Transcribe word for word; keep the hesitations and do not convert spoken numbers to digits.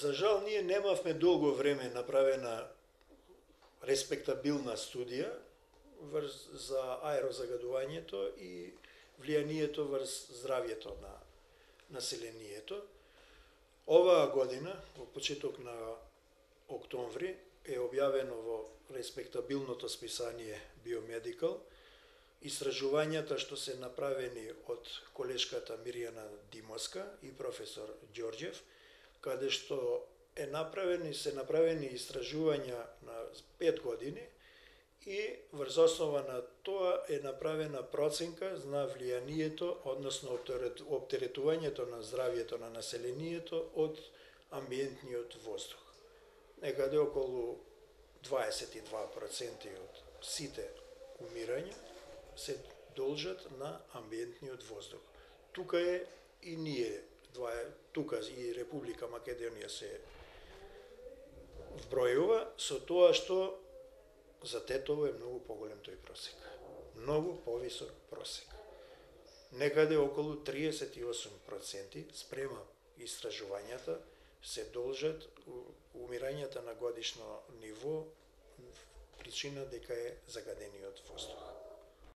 За жал, ние немавме долго време направена респектабилна студија врз за аерозагадувањето и влијанието врз здравјето на населението. Оваа година, во почеток на октомври, е објавено во респектабилното списание Биомедикал истражувањата што се направени од колешката Мирјана Димовска и професор Ѓорѓев, каде што е направени, се направени истражувања на пет години и врз основа на тоа е направена проценка на влијанието, односно оптеретувањето на здравјето на населението од амбиентниот воздух. Некаде околу дваесет и два проценти од сите умирања се должат на амбиентниот воздух. Тука е и ние, тука и Република Македонија се вбројува со тоа што за Тетово е многу поголем тој просек. Многу повисок просек. Некаде околу триесет и осум проценти спрема истражувањата се должат умирањата на годишно ниво причина дека е загадениот воздух.